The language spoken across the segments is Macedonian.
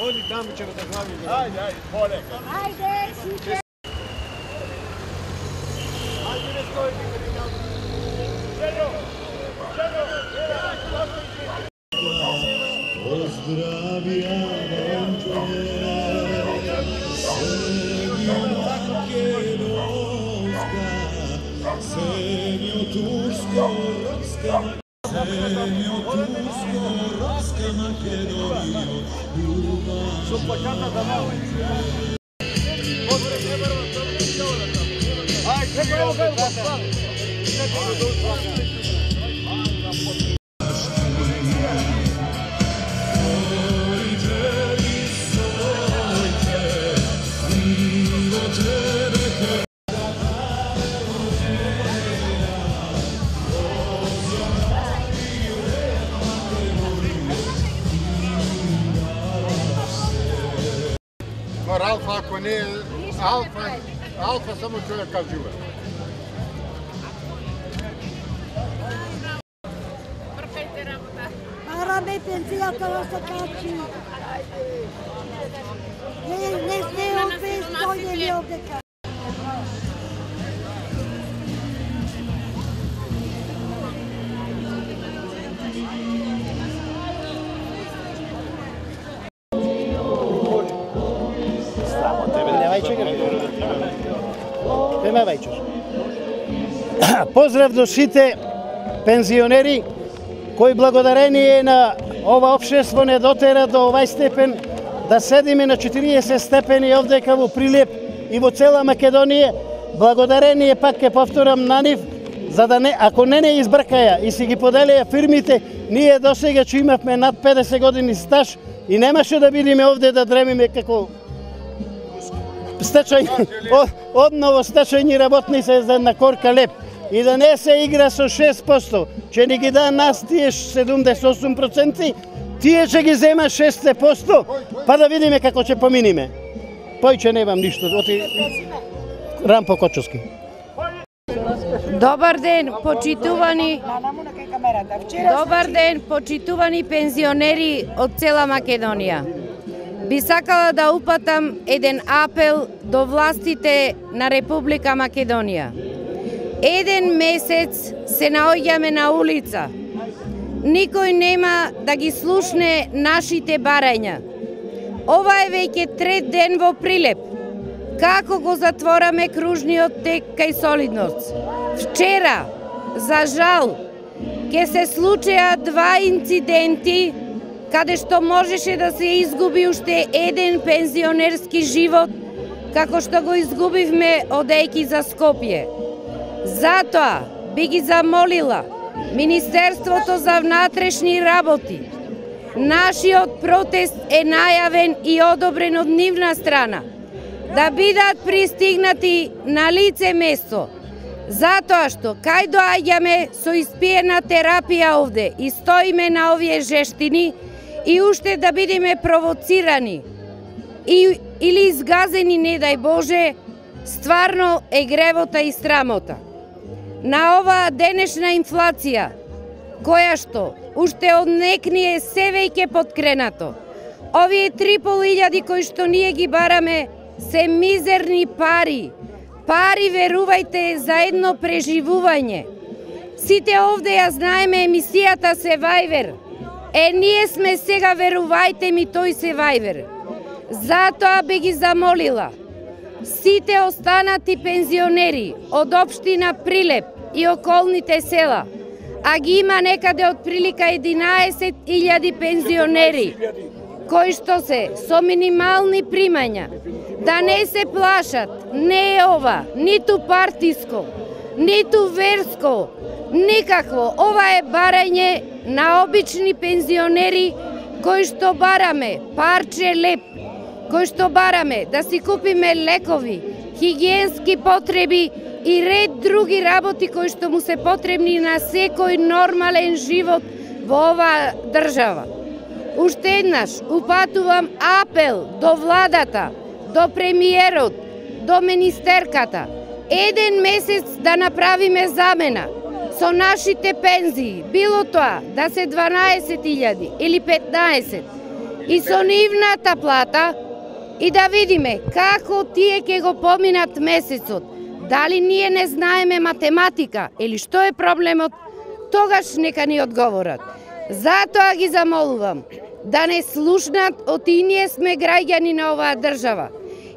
Оди таму ќе да глави. Ајде, поле. Ајде, сите. Ајде, не стои. Поздравија Донче, Сењо Турско-Родска, Сењо Турско-Родска Македонија, со плаката да мало. Алфа, ако не е алфа само човек кажува. Пркајте работа. Параме пензијата да се качи. Не сте опет, дојдели овде качи. Поздрав до сите пензионери кои благодарение на ова општество не дотера до овај степен да седиме на 40 степени овдека во Прилеп и во цела Македонија. Благодарение пак ќе повторам на нив, за да не, ако не избркаја и си ги поделија фирмите, ние досега че имавме над 50 години стаж и немаше да бидеме овде да дремиме како одново стачајни работници за една корка леп и да не се игра со 6%, че не ги да нас тие 78%, тие ќе ги зема 6%, па да видиме како ќе поминиме. Појче немам ништо, оти Рампо Кочовски. Добар ден, почитувани. Добар ден, почитувани пензионери од цела Македонија. Би сакала да упатам еден апел до властите на Република Македонија. Еден месец се наоѓаме на улица. Никој нема да ги слушне нашите барања. Ова е веќе трет ден во Прилеп. Како го затвораме кружниот тек кај Солидност? Вчера, за жал, ќе се случеа два инциденти каде што можеше да се изгуби уште еден пензионерски живот, како што го изгубивме одејки за Скопје. Затоа би ги замолила Министерството за внатрешни работи. Нашиот протест е најавен и одобрен од нивна страна, да бидат пристигнати на лице место, затоа што кај доаѓаме со испиена терапија овде и стоиме на овие жештини и уште да бидеме провоцирани или изгазени, не дај Боже, стварно е гревота и срамота. На оваа денешна инфлација, која што уште од некни е се веќе подкренато, овие 3.500 кои што ние ги бараме се мизерни пари. Пари, верувајте, за едно преживување. Сите овде ја знаеме емисијата Survivor. Ние сме сега, верувајте ми, тој Survivor. Затоа би ги замолила сите останати пензионери од општина Прилеп и околните села, а ги има некаде од прилика 11.000 пензионери, кои што се со минимални примања, да не се плашат, не е ова ниту партиско, ниту верско, никакво. Ова е барање на обични пензионери кои што бараме парче леп, кои што бараме да си купиме лекови, хигиенски потреби и ред други работи кои што му се потребни на секој нормален живот во оваа држава. Уште еднаш упатувам апел до владата, до премиерот, до министерката. Еден месец да направиме замена. со нашите пензии, било тоа да се 12.000 или 15, и со нивната плата, и да видиме како тие ќе го поминат месецот. Дали ние не знаеме математика или што е проблемот, тогаш нека ни одговорат. Затоа ги замолувам да не слушнат, оти ние сме граѓани на оваа држава.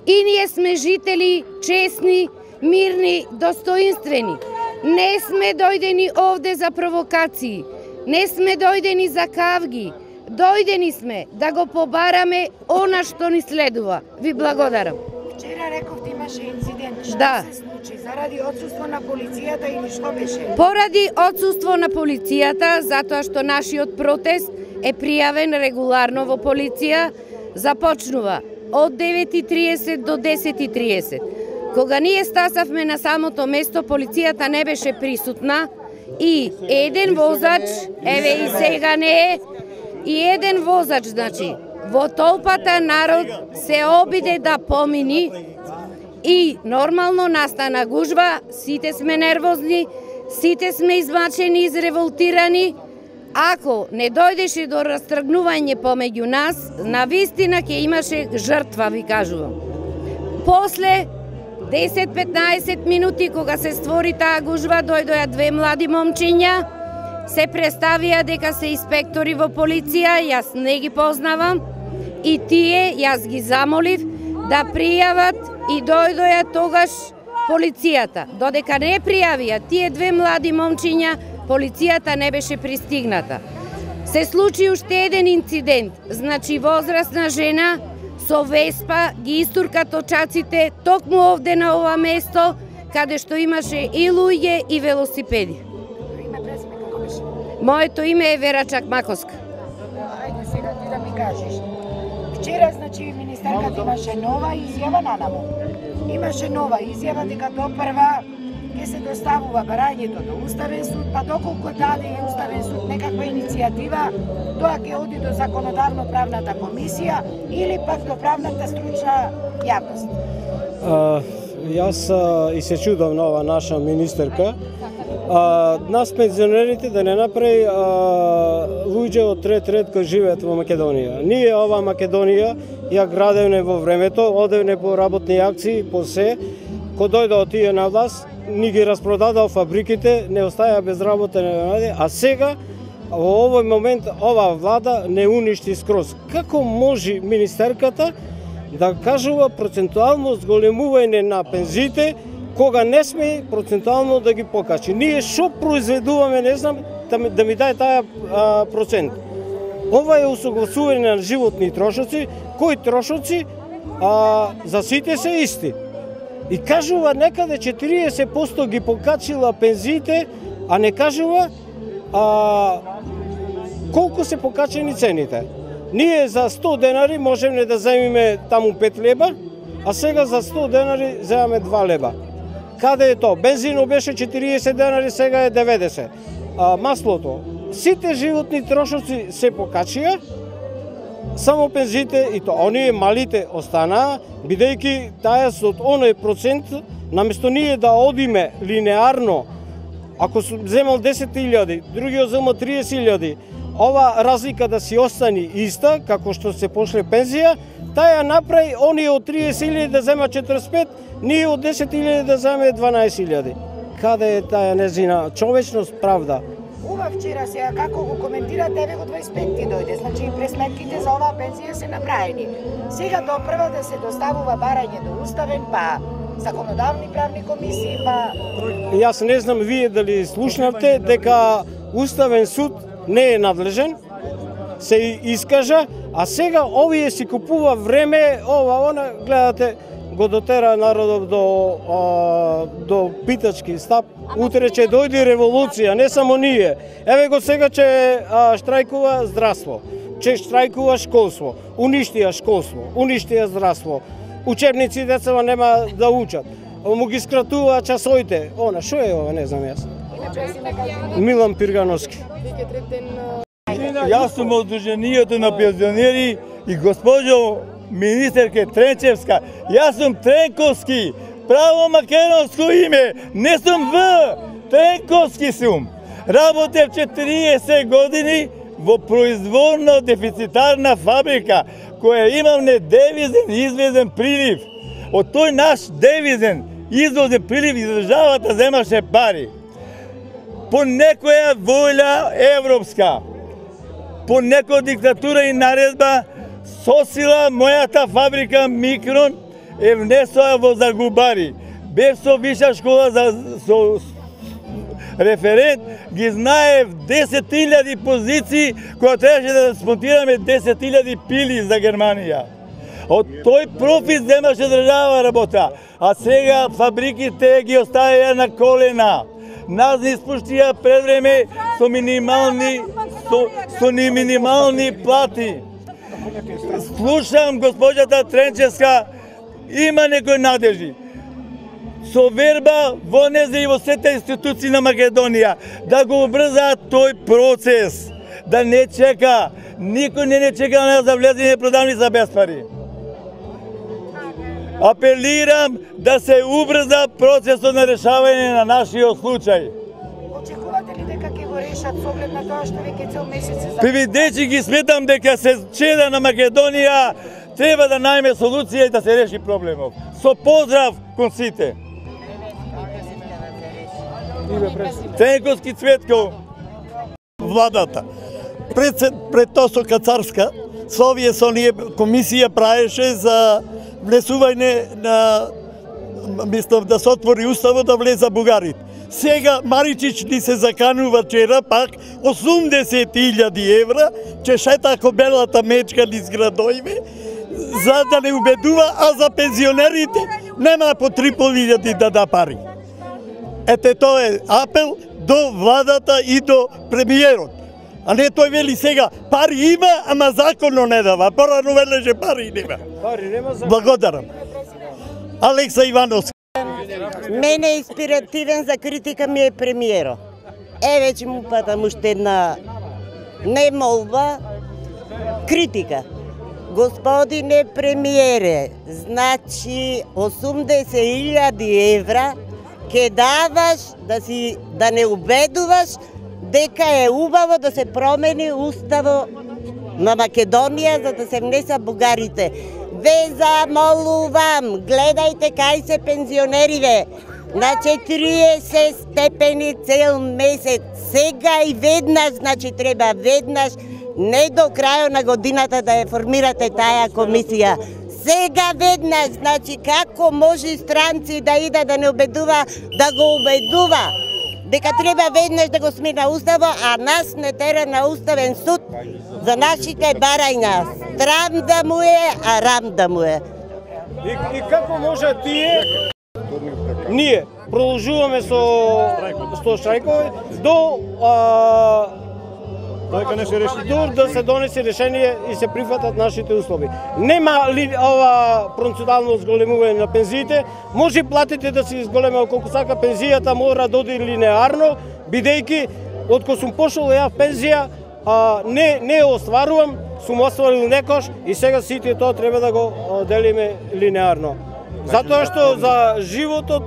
И ние сме жители честни, мирни, достоинствени. Не сме дојдени овде за провокации, не сме дојдени за кавги, дојдени сме да го побараме она што ни следува. Ви благодарам. Вчера рековте имаше инцидент. Што Да. се случи? Заради отсуство на полицијата или што беше? Поради отсуство на полицијата, затоа што нашиот протест е пријавен регуларно во полиција, започнува од 9.30 до 10.30. Кога ние стасавме на самото место, полицијата не беше присутна и еден возач, еве и сега не е, и еден возач, значи, во толпата народ се обиде да помини и нормално настана гужва, сите сме нервозни, сите сме измачени, изреволтирани. Ако не дојдеше до растргнување помеѓу нас, навистина ќе имаше жртва, ви кажувам. После 10-15 минути, кога се створи таа гужва, дојдоа две млади момчиња, се представија дека се инспектори во полиција, јас не ги познавам, и тие, јас ги замолив да пријават и дојдоа тогаш полицијата. Додека не пријавија тие две млади момчиња, полицијата не беше пристигната. Се случи уште еден инцидент, значи возрастна жена со веспа ги истурка точаците токму овде на ова место, каде што имаше и луѓе и велосипеди. Име, презиме, како беше? Моето име е Вера Чакмаковска. Ајде сега ти да ми кажеш. Вчера, значи, министерката имаше нова изјава нанаму. Имаше нова изјава дека до прва ќе се доставува барањето до Уставен суд, па доколку даде и Уставен суд некаква иницијатива, тоа ќе оди до законодавно-правната комисија или пак до правната стручна јавност. Јас и се чудам на ова наша министерка. Нас пензионерите да не направи луѓе од трет ред кои живеат во Македонија. Ние ова Македонија ја градевне во времето, одевне по работни акции, по се, кој дојде од тие на власт, ни ги распродадал фабриките, не остаја без работа, а сега во овој момент ова влада не уништи скроз. Како може министерката да кажува процентуално зголемување на пензиите, кога не сме процентуално да ги покачи? Ние што произведуваме, не знам, да ми дај таа процент. Ова е усогласување на животни трошоци, кои трошоци за сите се исти. И кажува некаде 40% ги покачила пензиите, а не кажува колку се покачени цените. Ние за 100 денари можеме да земиме таму 5 леба, а сега за 100 денари земаме 2 леба. Каде е тоа? Бензинот беше 40 денари, сега е 90. Маслото. Сите животни трошоци се покачија, само пензиите и тоа оние малите останаа, бидејќи таа со оној процент, наместо ние да одиме линеарно, ако земал 10.000, другиот земал 30.000, ова разлика да си остани иста, како што се пошле пензија, таа ја направи оние од 30.000 да зема 45, ние од 10.000 да земе 12.000. Каде е таа незина човечност, правда? Ова вчера сега како го коментирате, еве го 25-ти дојде, значи пресметките за оваа пензија се направени. Сега допрва да се доставува барање до Уставен, па законодавни правни комисии, па... Јас не знам вие дали слушнавте дека Уставен суд не е надлежен, се искажа, а сега овие си купува време, она, гледате, го дотера народот до питачки стап. Утре ќе дојде револуција, не само ние. Еве го сега ќе штрајкува здравство, ќе штрајкува школство, уништија школство, уништија здравство. Учебници децава нема да учат. Му ги скратува часовите. Она, шо е ова, не знам јас. Милан Пиргановски. Јас сум од Сдруженијето на пензионери и госпоđo министерке Тренчевска, јас сум Тренковски, право македонско име, не сум В. Тенковски сум. Работев 40 години во производно дефицитарна фабрика, која имам недевизен извезен прилив. Од тој наш девизен извозен прилив државата земаше пари. По некоја волја европска, по некоја диктатура и наредба, со сила мојата фабрика Микрон е внесоа во Загубари. Бев со виша школа со референт, ги знаев 10.000 позиции, која требаше да смонтираме 10.000 пили за Германија. Од тој профит земаше држава работа, а сега фабриките ги оставија на колена. Нас не испуштија пред време со минимални плати. Слушам госпоѓата Тренчевска, има некои надежи. Со верба во незе и во сите институции на Македонија да го убрзаат тој процес, да не чека, никој не чека на нас да влезе и не продавни за без пари. Апелирам да се убрза процесот на решавање на нашиот случај. Очекувате ли дека ќе го решат со оглед на тоа што веќе цел месец се Привидечи ги сметам дека се чеда на Македонија треба да најме солуција и да се реши проблемов. Со поздрав кон сите. Тенковски Цветко. Владата. Пред тоа со Кацарска, со овие со ние комисија праеше за внесување на мислам да се отвори уставот да влеза бугарите. Сега Маричич ни се заканува вчера пак 80.000 евра, че шета ко белата мечка низ градоиве, за да не убедува, а за пензионерите нема по 3.500 да да пари. Ете тоа е апел до владата и до премиерот. А не тој вели сега, пари има, ама законно не дава. Порано велеше пари нема. Благодарам. Алекса Ивановски. Мене инспиративен за критика ми е премиеро. Веќе му патам уште една не молба, критика. Господине премиере, значи 80.000 евра ке даваш да не убедуваш дека е убаво да се промени уставо на Македонија за да се внеса бугарите. Ве замолувам, гледајте кај се пензионериве. На 40 степени цел месец. Сега и веднаш, значи треба веднаш, не до крајот на годината да ја формирате таа комисија. Сега веднаш, значи како може странци да иде да не убедува, да го убедува. Дека треба веднаш да го смена уставо, а нас не тера на уставен суд за нашите барања. Страм да му е, а рам да му е. И како може ние продолжуваме со штрајкови до да се донесе решение и се прифатат нашите услови. Нема ли ова процентуално зголемување на пензиите, може платите да се изголема колку сака, пензијата мора да оди линеарно, бидејќи откако сум пошол ја пензија, не остварувам, сум остварил некош и сега сите тоа треба да го делиме линеарно. Затоа што за животот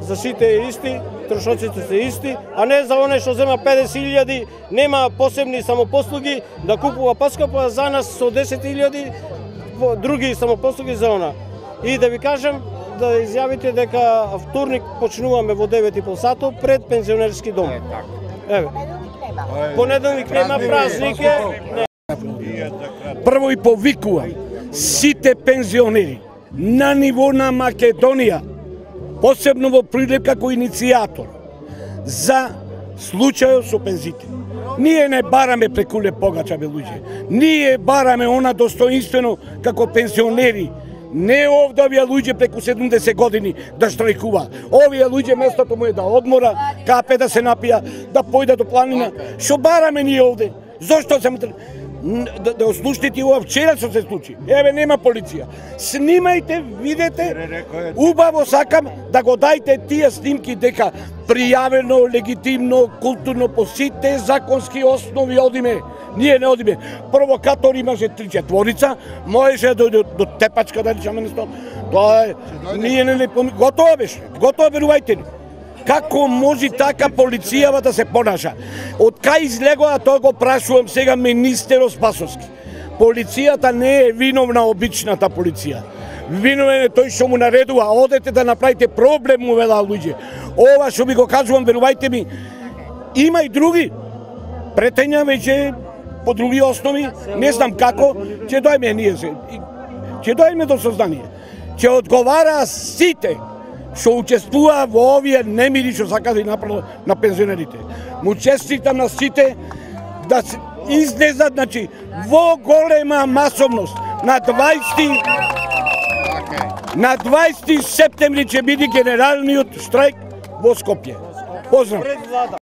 за сите е исти, трошоците се исти, а не за оне што зема 50.000, нема посебни самопослуги да купува поскапо, а за нас со 10.000 други самопослуги за она. И да ви кажам, да изјавите дека вторник почнуваме во 9:30 сато пред пензионерски дом. Еве. Понеделник нема, празник е. Прво и повикувам сите пензионери на ниво на Македонија, посебно во Прилеп како иницијатор за случајот со пензите. Ние не бараме прекуле погача, бе луѓе. Ние бараме она достоинствено како пензионери. Не овде овие луѓе преку 70 години да штрајкува. Овие луѓе местото му е да одмора, капе да се напија, да појде до планина. Што бараме ние овде? Зошто се да ослушните ова вчера што се случи? Еве нема полиција. Снимајте, видете, убаво сакам да го дајте тие снимки дека пријавено, легитимно, културно по сите законски основи одиме. Ние не одиме. Провокатори имаше 3-4, можеше да дојде до Тепачка да речеме нешто. Тоа е, ние не готово беше. Готово, верувајте ни. Како може така полицијава да се понаша? Од кај излегоа, тоа го прашувам сега министерот Спасовски. Полицијата не е виновна, обичната полиција. Виновен е тој што му наредува, одете да направите проблем, му велаа луѓе. Ова што ви го кажувам, верувајте ми, има и други. Претења веќе по други основи, не знам како, ќе дојме ние се. Ќе дојме до сознание. Ќе одговара сите што учествува во овие немири што сака да направат на пензионерите. Му честитам на сите да излезат, значи, во голема масовност на 20 септември ќе биде генералниот штрајк во Скопје. Поздрав!